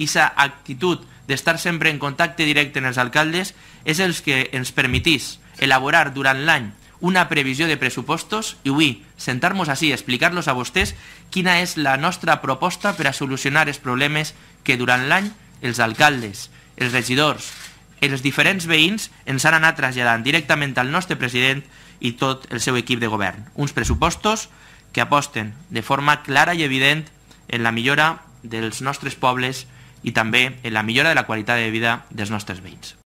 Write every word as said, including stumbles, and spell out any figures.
Aquesta actitud d'estar sempre en contacte directe amb els alcaldes és el que ens permetís elaborar durant l'any una previsió de pressupostos i avui sentar-nos així i explicar-los a vostès quina és la nostra proposta per a solucionar els problemes que durant l'any els alcaldes, els regidors, els diferents veïns ens han anat traslladant directament al nostre president i tot el seu equip de govern. Uns pressupostos que aposten de forma clara i evident en la millora dels nostres pobles i també en la millora de la qualitat de vida dels nostres veïns.